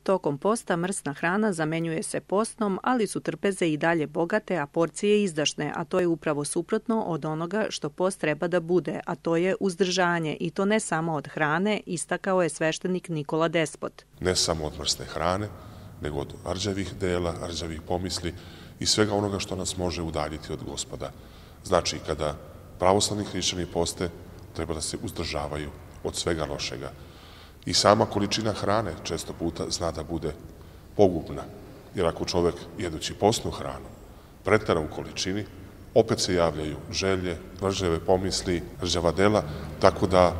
Tokom posta mrsna hrana zamenjuje se postnom, ali su trpeze i dalje bogate, a porcije izdašne, a to je upravo suprotno od onoga što post treba da bude, a to je uzdržanje, i to ne samo od hrane, istakao je sveštenik Nikola Despot. Ne samo od mrsne hrane, nego od rđavih dela, rđavih pomisli i svega onoga što nas može udaljiti od Gospoda. Znači, kada pravoslavni hrišćani poste, treba da se uzdržavaju od svega lošega. I sama količina hrane često puta zna da bude pogubna, jer ako čovek jedući postnu hranu pretera u količini, opet se javljaju želje, rđave pomisli, rđava dela, tako da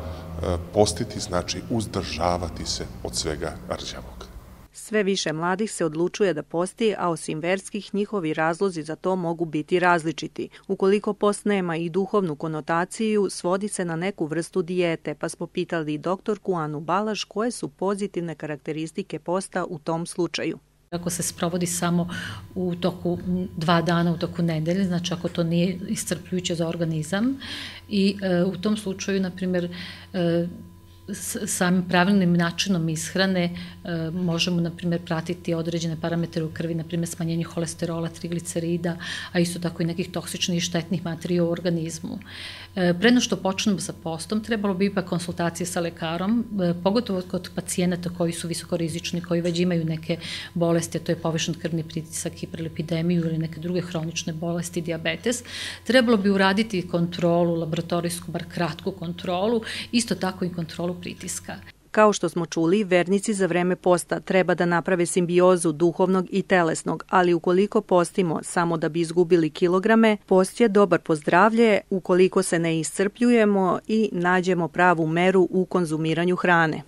postiti znači uzdržavati se od svega rđavog. Sve više mladih se odlučuje da posti, a osim verskih, njihovi razlozi za to mogu biti različiti. Ukoliko post nema i duhovnu konotaciju, svodi se na neku vrstu dijete, pa smo pitali doktorku Anu Balaš koje su pozitivne karakteristike posta u tom slučaju. Ako se sprovodi samo u toku 2 dana u toku nedelje, znači ako to nije iscrpljujuće za organizam i u tom slučaju, na primjer, samim pravilnim načinom ishrane možemo, na primjer, pratiti određene parametre u krvi, na primjer smanjenje holesterola, triglicerida, a isto tako i nekih toksičnih i štetnih materija u organizmu. Pre nego što počnemo sa postom, trebalo bi ipak konsultacije sa lekarom, pogotovo kod pacijenata koji su visokorizični, koji već imaju neke bolesti, a to je povišen krvni pritisak, hiperlipidemiju ili neke druge hronične bolesti, dijabetes. Trebalo bi uraditi kontrolu, laboratorijsku, bar kratku kontrolu, isto tako i kontrolu pritiska. Kao što smo čuli, vernici za vreme posta treba da naprave simbiozu duhovnog i telesnog, ali ukoliko postimo samo da bi izgubili kilograme, post je dobar po zdravlje ukoliko se ne iscrpljujemo i nađemo pravu meru u konzumiranju hrane.